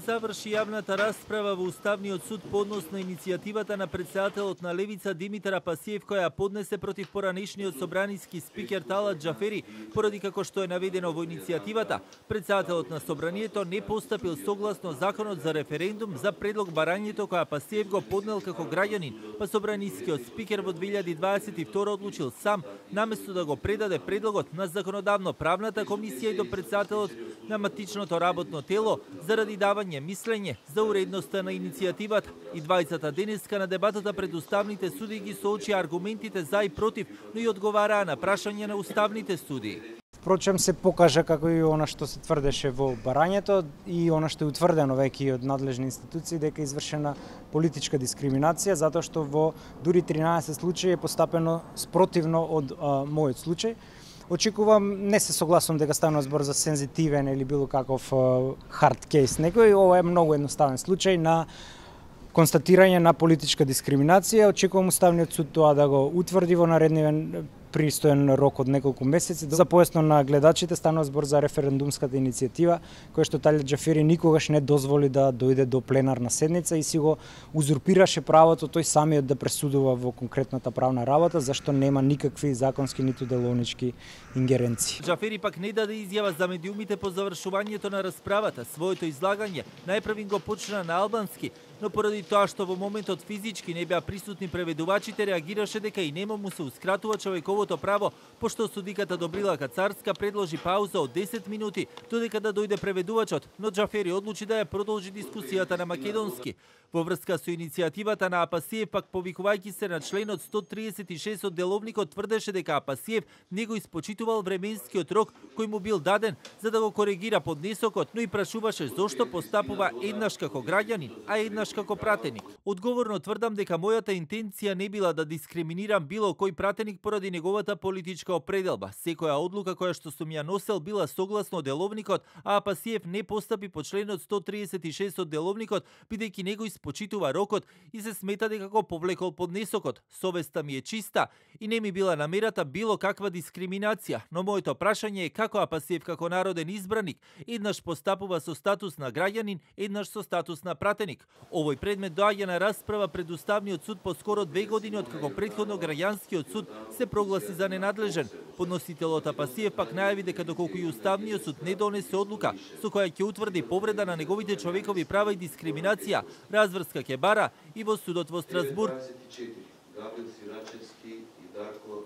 Заврши јавната расправа во Уставниот суд по однос на иницијативата на претседателот на Левица Димитар Апасиев која поднесе против поранешниот собраниски спикер Талат Џафери, поради како што е наведено во иницијативата, претседателот на собранието не постапил согласно законот за референдум за предлог барањето која Апасиев го поднел како граѓанин, па собранискиот спикер во 2022 одлучил сам, наместо да го предаде предлогот на законодавно-правната комисија и до претседателот на матичното работно тело заради давање мислење за уредноста на иницијативата. И двајцата денеска на дебатата пред уставните суди ги соочија аргументите за и против, но и одговараа на прашање на уставните суди. Впрочем се покажа како и она што се тврдеше во барањето и она што е утврдено веќе од надлежни институции дека е извршена политичка дискриминација, затоа што во дури 13 случаи е постапено спротивно од мојот случај. Очекувам, не се согласувам дека станува збор за сензитивен или било каков хард кейс некој. Ова е многу едноставен случај на констатирање на политичка дискриминација. Очекувам Уставниот суд тоа да го утврди во нареднивен пристоен рок од неколку месеци. За појасно на гледачите, станува збор за референдумската иницијатива, која што Талат Џафери никогаш не дозволи да дојде до пленарна седница и си го узурпираше правото тој самиот да пресудува во конкретната правна работа, зашто нема никакви законски ниту деловнички ингеренции. Џафери пак не даде изјава за медиумите по завршувањето на расправата. Своето излагање најпрвин го почна на албански, но поради тоа што во моментот физички не беа присутни преведувачите, реагираше дека и нему му сеускратува човековото право, пошто судиката Добрила Кацарска предложи пауза од 10 минути додека да дојде преведувачот, но Џафери одлучи да ја продолжи дискусијата на македонски. Во врска со иницијативата на Апасиев, пак повикувајќи се на членот 136 од деловникот, тврдеше дека Апасиев не го испочитувал временскиот рок кој му бил даден за да го коригира поднесокот, но и прашуваше зошто постапува еднаш како граѓанин, а еднаш како пратеник. Одговорно тврдам дека мојата интенција не била да дискриминирам било кој пратеник поради неговата политичка определба. Секоја одлука која што сум ја носел била согласно деловникот, а Апасиев не постапи по членот 136 од деловникот, бидејќи не го испочитува рокот и се смета дека го повлекол поднесокот. Совеста ми е чиста и не ми била намерата било каква дискриминација, но моето прашање е како Апасиев како народен избраник еднаш постапува со статус на граѓанин, еднаш со статус на пратеник. Овој предмет доаѓа на расправа пред Уставниот суд по скоро 2 години откако претходно граѓанскиот суд се прогласи за ненадлежен. Подносителот Апасиев пак најави дека доколку и Уставниот суд не донесе одлука со која ќе утврди повреда на неговите човекови права и дискриминација, разврска ќе бара и во судот во Страсбург.